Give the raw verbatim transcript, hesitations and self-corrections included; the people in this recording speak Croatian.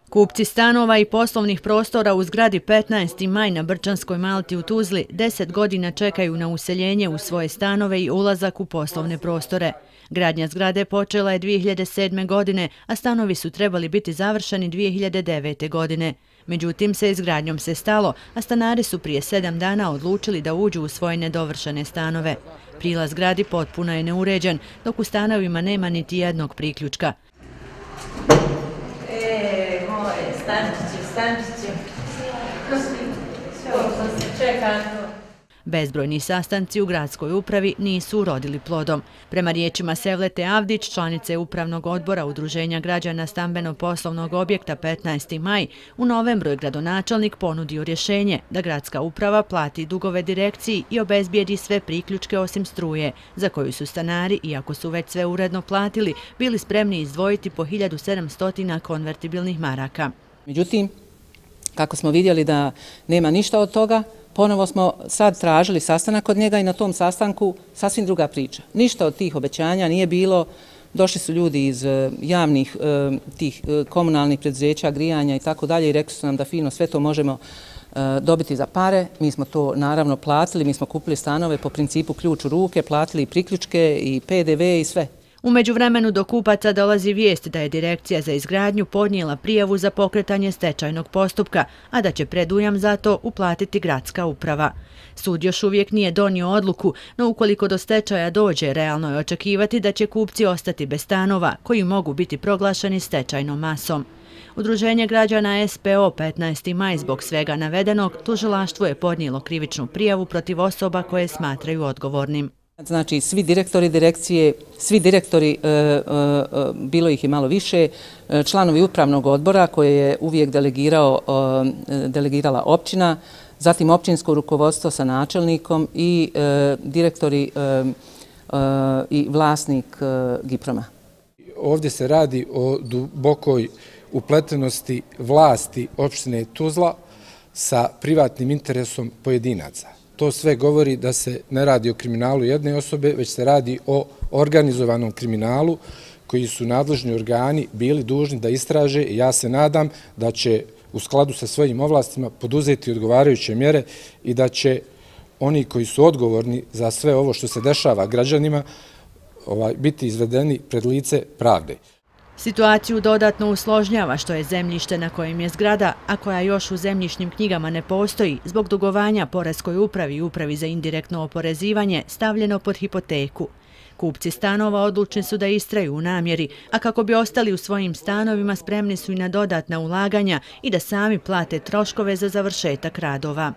Kupci stanova i poslovnih prostora u zgradi petnaesti maj na Brčanskoj Malti u Tuzli deset godina čekaju na useljenje u svoje stanove i ulazak u poslovne prostore. Gradnja zgrade počela je dvije hiljade sedme. godine, a stanovi su trebali biti završeni dvije hiljade devete. godine. Međutim, sa izgradnjom se stalo, a stanari su prije sedam dana odlučili da uđu u svoje nedovršene stanove. Prilaz zgradi potpuno je neuređen, dok u stanovima nema niti jednog priključka. E, moje, stančiću, stančiću. Sve ovo što se čeka. Bezbrojni sastanci u gradskoj upravi nisu urodili plodom. Prema riječima Sevlete Avdić, članice Upravnog odbora Udruženja građana stambeno-poslovnog objekta petnaesti maj, u novembru je gradonačelnik ponudio rješenje da gradska uprava plati dugove direkciji i obezbijedi sve priključke osim struje, za koju su stanari, iako su već sve uredno platili, bili spremni izdvojiti po hiljadu sedamsto konvertibilnih maraka. Međutim, kako smo vidjeli da nema ništa od toga, ponovo smo sad tražili sastanak kod njega i na tom sastanku sasvim druga priča. Ništa od tih obećanja nije bilo. Došli su ljudi iz javnih tih komunalnih preduzeća, grijanja i tako dalje i rekli su nam da fino sve to možemo dobiti za pare. Mi smo to naravno platili, mi smo kupili stanove po principu ključ u ruke, platili i priključke i P D V i sve. U međuvremenu do kupaca dolazi vijest da je Direkcija za izgradnju podnijela prijavu za pokretanje stečajnog postupka, a da će predujam za to uplatiti gradska uprava. Sud još uvijek nije donio odluku, no ukoliko do stečaja dođe, realno je očekivati da će kupci ostati bez stanova, koji mogu biti proglašeni stečajnom masom. Udruženje građana S P O petnaesti maj zbog svega navedenog tužilaštvo je podnijelo krivičnu prijavu protiv osoba koje smatraju odgovornim. Znači, svi direktori direkcije, svi direktori, e, e, bilo ih i malo više, članovi upravnog odbora koje je uvijek delegirao, e, delegirala općina, zatim općinsko rukovodstvo sa načelnikom i e, direktori e, e, i vlasnik e, Giproma. Ovdje se radi o dubokoj upletenosti vlasti opštine Tuzla sa privatnim interesom pojedinaca. To sve govori da se ne radi o kriminalu jedne osobe, već se radi o organizovanom kriminalu koji su nadležni organi bili dužni da istraže i ja se nadam da će u skladu sa svojim ovlastima poduzeti odgovarajuće mjere i da će oni koji su odgovorni za sve ovo što se dešava građanima biti izvedeni pred lice pravde. Situaciju dodatno usložnjava što je zemljište na kojem je zgrada, a koja još u zemljišnim knjigama ne postoji, zbog dugovanja poreskoj upravi i upravi za indirektno oporezivanje stavljeno pod hipoteku. Kupci stanova odlučni su da istraju u namjeri, a kako bi ostali u svojim stanovima spremni su i na dodatna ulaganja i da sami plate troškove za završetak radova.